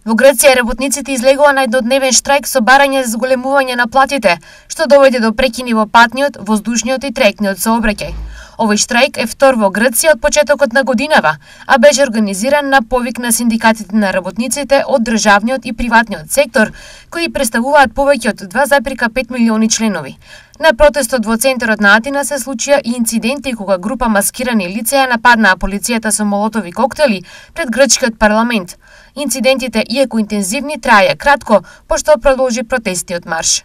Во Грција работниците излегува на еднодневен штрајк со барање за зголемување на платите, што доведе до прекини во патниот, воздушниот и трајектниот сообраќај. Овој штрајк е втор во Грција од почетокот на годинава, а беше организиран на повик на синдикатите на работниците од државниот и приватниот сектор, кои представуваат повеќе од 2,5 милиони членови. На протестот во центарот на Атина се случија и инциденти кога група маскирани лица ја нападнаа полицијата со молотови коктели пред грчкиот парламент. Инцидентите, иако интензивни, траја кратко, пошто продолжи протестиот марш.